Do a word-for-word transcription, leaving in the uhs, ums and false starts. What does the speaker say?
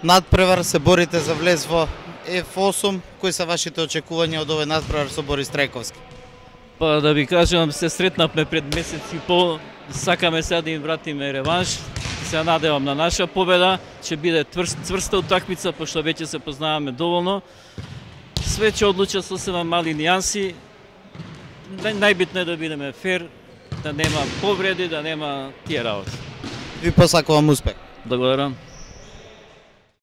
надпревар, се борите за влез во Еф осум. Кои се вашите очекувања од овој надпревар со Борис Трајковски? Па да ви кажам, се сретнавме пред месец и пол, сакаме сега да им вратиме реванш. Се надевам на наша победа, ќе биде цврста утакмица, пошто веќе се познаваме доволно. Све ќе одлуча со сема мали нијанси. Најбитно е да бидеме фер, да нема повреди, да нема тие работи. Ви посакувам успех. Благодарам.